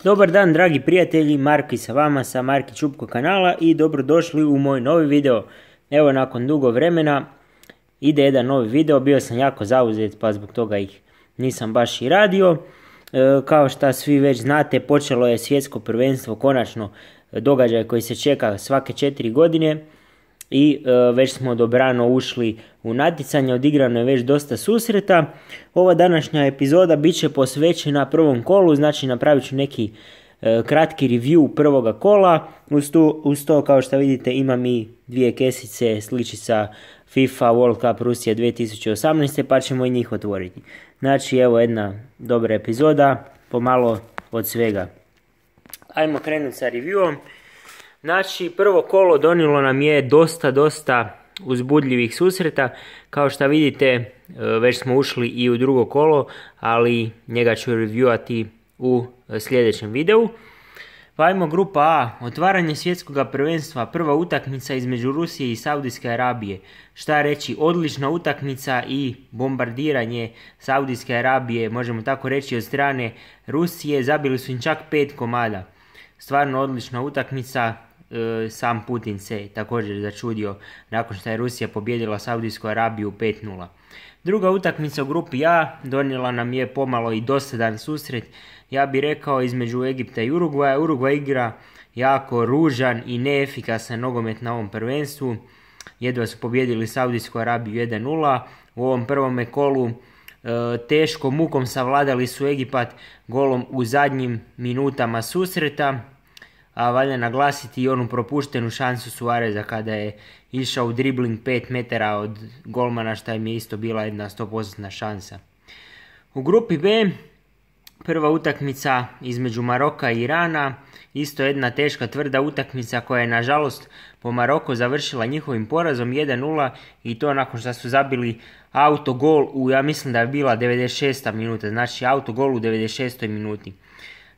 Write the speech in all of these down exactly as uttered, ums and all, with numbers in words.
Dobar dan dragi prijatelji, Marki sa vama sa Marki Čupko kanala i dobrodošli u moj novi video. Evo nakon dugo vremena ide jedan novi video, bio sam jako zauzet pa zbog toga ih nisam baš i radio. E, kao što svi već znate, počelo je svjetsko prvenstvo, konačno događaj koji se čeka svake četiri godine. I e, već smo dobrano ušli u natjecanje, odigrano je već dosta susreta. Ova današnja epizoda bit će posvećena prvom kolu, znači napravit ću neki e, kratki review prvoga kola. Uz to, uz to kao što vidite imam i dvije kesice sličica FIFA World Cup Rusija dvije tisuće osamnaeste pa ćemo i njih otvoriti. Znači evo jedna dobra epizoda, pomalo od svega. Ajmo krenuti sa reviewom. Znači, prvo kolo donijelo nam je dosta, dosta uzbudljivih susreta. Kao što vidite, već smo ušli i u drugo kolo, ali njega ću reviewati u sljedećem videu. Pa ajmo grupa A, otvaranje svjetskog prvenstva, prva utakmica između Rusije i Saudijske Arabije. Šta reći, odlična utakmica i bombardiranje Saudijske Arabije, možemo tako reći, od strane Rusije. Zabili su im čak pet komada. Stvarno odlična utakmica. Sam Putin se također začudio nakon što je Rusija pobijedila Saudijsku Arabiju pet nula. Druga utakmica u grupi A donijela nam je pomalo i dosadan susret, ja bih rekao, između Egipta i Urugvaja. Urugvaj igra jako ružan i neefikasan nogomet na ovom prvenstvu. Jedva su pobijedili Saudijsku Arabiju jedan nula. U ovom prvome kolu e, teško mukom savladali su Egipat golom u zadnjim minutama susreta. A valja naglasiti i onu propuštenu šansu Suareza kada je išao u dribling pet metara od golmana, što im je isto bila jedna sto posto šansa. U grupi B, prva utakmica između Maroka i Irana, isto jedna teška tvrda utakmica koja je nažalost po Maroku završila njihovim porazom jedan nula i to nakon što su zabili autogol u, ja mislim da je bila devedeset šesta minuta, znači autogol u devedeset šestoj minuti.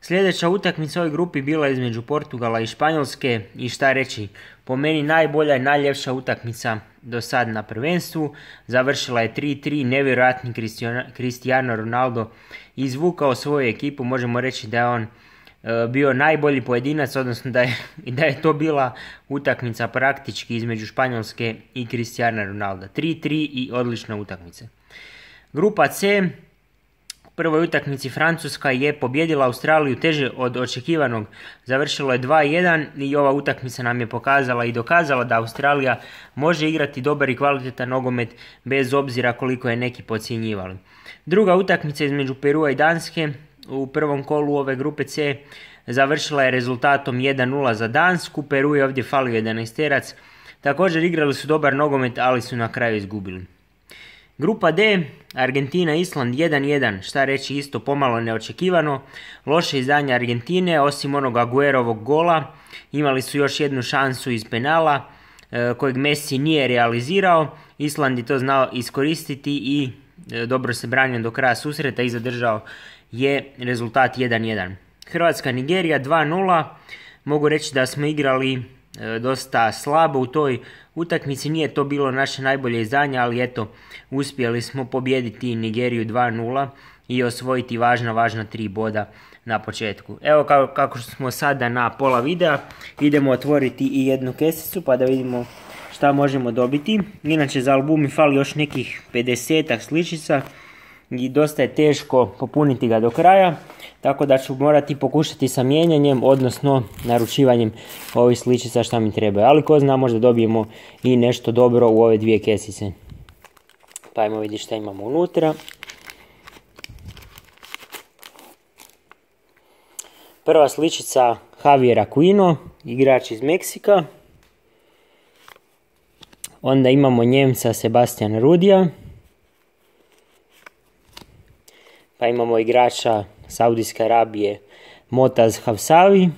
Sljedeća utakmica u ovoj grupi bila između Portugala i Španjolske i šta reći, po meni najbolja i najljepša utakmica do sad na prvenstvu. Završila je tri tri, nevjerojatni Cristiano Ronaldo izvukao svoju ekipu, možemo reći da je on e, bio najbolji pojedinac, odnosno da je, da je to bila utakmica praktički između Španjolske i Cristiano Ronaldo. tri tri i odlična utakmica. Grupa C. U prvoj utakmici Francuska je pobjedila Australiju teže od očekivanog. Završilo je dva jedan i ova utakmica nam je pokazala i dokazala da Australija može igrati dobar i kvalitetan nogomet bez obzira koliko je neki podcjenjivali. Druga utakmica između Perua i Danske u prvom kolu ove grupe C završila je rezultatom jedan nula za Dansku. Peru je ovdje falio jedanaesterac. Također igrali su dobar nogomet, ali su na kraju izgubili. Grupa D, Argentina Island jedan jedan, šta reći, isto pomalo neočekivano. Loše izdanje Argentine, osim onog Aguerovog gola, imali su još jednu šansu iz penala e, kojeg Messi nije realizirao. Island je to znao iskoristiti i e, dobro se branio do kraja susreta i zadržao je rezultat jedan jedan. Hrvatska Nigerija dva nula, mogu reći da smo igrali e, dosta slabo u toj utakmici, nije to bilo naše najbolje izdanje, ali eto, uspjeli smo pobijediti Nigeriju dva nula i osvojiti važna, važna tri boda na početku. Evo kako, kako smo sada na pola videa, idemo otvoriti i jednu kesicu pa da vidimo šta možemo dobiti. Inače za album mi fali još nekih pedesetak sličica i dosta je teško popuniti ga do kraja, tako da ću morati pokušati sa mijenjanjem, odnosno naručivanjem ovih sličica šta mi treba. Ali ko zna, možda dobijemo i nešto dobro u ove dvije kesice. Pa ajmo vidjeti šta imamo unutra. Prva sličica Javier Aquino, igrač iz Meksika. Onda imamo Njemca Sebastiana Rudija. Pa imamo igrača Saudijske Arabije Motaz Havsavi.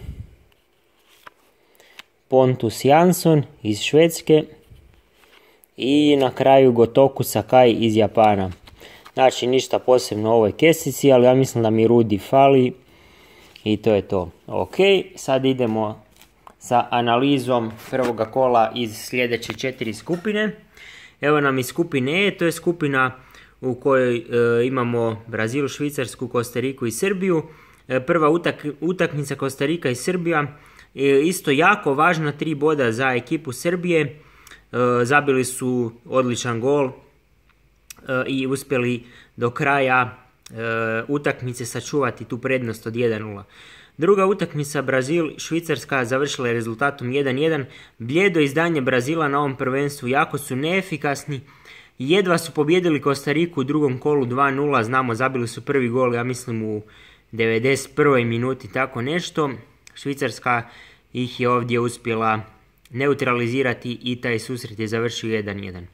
Pontus Jansson iz Švedske. I na kraju Gotoku Sakai iz Japana. Znači ništa posebno u ovoj kesici, ali ja mislim da mi Rudi fali. I to je to. Ok, sad idemo sa analizom prvoga kola iz sljedeće četiri skupine. Evo nam iz skupine E, to je skupina u kojoj e, imamo Brazil, Švicarsku, Kostariku i Srbiju. Prva utak, utakmica Kostarika i Srbija, isto jako važna tri boda za ekipu Srbije, zabili su odličan gol i uspjeli do kraja utakmice sačuvati tu prednost od jedan nula. Druga utakmica Brazil-Švicarska završila je rezultatom jedan jedan. Bljedo izdanje Brazila na ovom prvenstvu, jako su neefikasni. Jedva su pobjedili Kostariku u drugom kolu dva nula, znamo zabili su prvi gol, ja mislim u devedeset prvoj minuti, tako nešto. Švicarska ih je ovdje uspjela neutralizirati i taj susret je završio jedan jedan.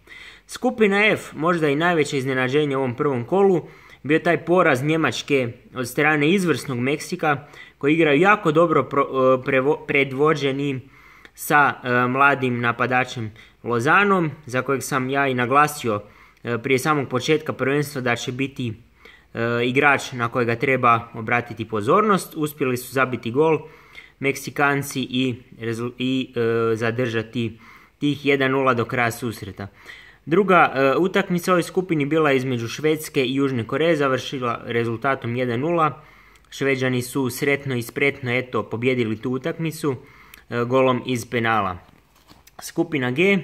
Skupina F, možda i najveće iznenađenje u ovom prvom kolu, bio taj poraz Njemačke od strane izvrsnog Meksika, koji igraju jako dobro predvođeni sa e, mladim napadačem Lozanom, za kojeg sam ja i naglasio e, prije samog početka prvenstva da će biti e, igrač na kojega treba obratiti pozornost. Uspjeli su zabiti gol Meksikanci i, i e, zadržati tih jedan nula do kraja susreta. Druga e, utakmica u ovoj skupini bila između Švedske i Južne Koreje, završila rezultatom jedan nula. Šveđani su sretno i spretno eto pobjedili tu utakmicu e, golom iz penala. Skupina G,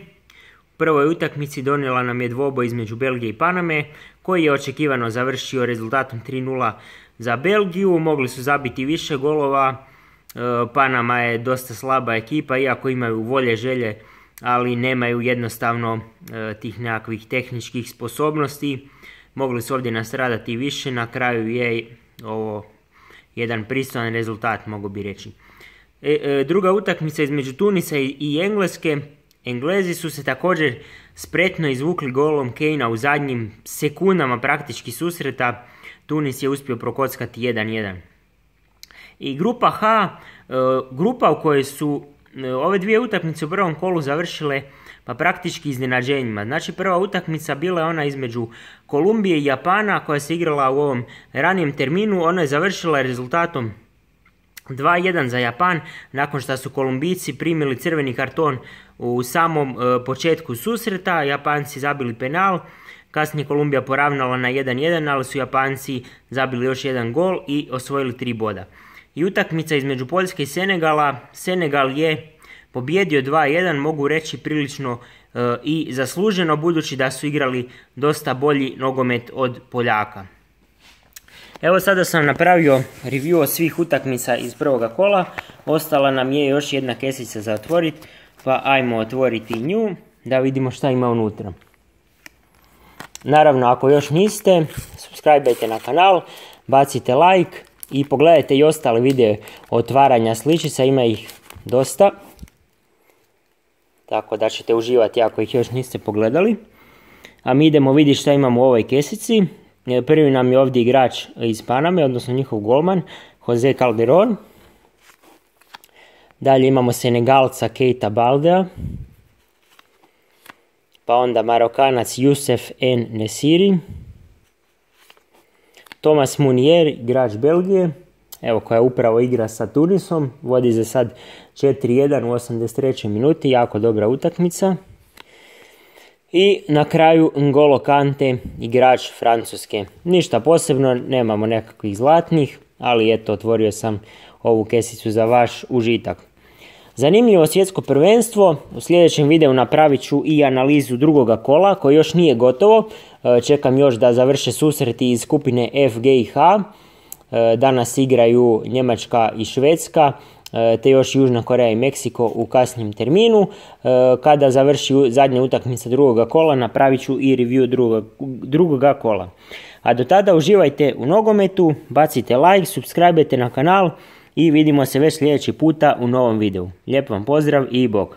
u prvoj utakmici donijela nam je dvoboj između Belgije i Paname, koji je očekivano završio rezultatom tri nula za Belgiju. Mogli su zabiti više golova, e, Panama je dosta slaba ekipa, iako imaju volje, želje, ali nemaju jednostavno e, tih nekakvih tehničkih sposobnosti. Mogli su ovdje nastradati više, na kraju je ovo jedan pristojan rezultat, mogu bi reći. E, e, druga utakmica između Tunisa i, i Engleske. Englezi su se također spretno izvukli golom Kanea u zadnjim sekundama praktički susreta. Tunis je uspio prokockati jedan jedan. I grupa H, e, grupa u kojoj su ove dvije utakmice u prvom kolu završile pa praktički iznenađenjima. Znači prva utakmica bila je ona između Kolumbije i Japana koja se igrala u ovom ranijem terminu. Ona je završila rezultatom dva jedan za Japan nakon što su Kolumbijci primili crveni karton u samom e, početku susreta. Japanci zabili penal, kasnije Kolumbija poravnala na jedan jedan, ali su Japanci zabili još jedan gol i osvojili tri boda. I utakmica između Poljske i Senegala, Senegal je pobjedio dva jedan, mogu reći prilično e, i zasluženo, budući da su igrali dosta bolji nogomet od Poljaka. Evo sada sam napravio review od svih utakmica iz prvoga kola, ostala nam je još jedna kesica za otvoriti, pa ajmo otvoriti nju da vidimo šta ima unutra. Naravno, ako još niste, subscribe-ajte na kanal, bacite like i pogledajte i ostale videe otvaranja sličica, ima ih dosta. Tako da ćete uživati ako ih još niste pogledali. A mi idemo vidjeti šta imamo u ovoj kesici. Prvi nam je ovdje igrač iz Paname, odnosno njihov golman, Jose Calderon. Dalje imamo Senegalca Keita Baldea. Pa onda Marokanac Youssef En Nesiri. Thomas Munier, igrač Belgije, evo koja upravo igra sa Tunisom, vodi za sad četiri jedan u osamdeset trećoj minuti, jako dobra utakmica. I na kraju N'Golo Kante, igrač Francuske. Ništa posebno, nemamo nekakvih zlatnih, ali eto, otvorio sam ovu kesicu za vaš užitak. Zanimljivo svjetsko prvenstvo, u sljedećem videu napravit ću i analizu drugoga kola koji još nije gotovo. Čekam još da završe susreti iz skupine F, G i H. Danas igraju Njemačka i Švedska, te još Južna Koreja i Meksiko u kasnijem terminu. Kada završi zadnja utakmica drugoga kola, napravit ću i review drugoga, drugoga kola. A do tada uživajte u nogometu, bacite like, subscribe-ajte na kanal i vidimo se već sljedeći puta u novom videu. Lijep vam pozdrav i bok!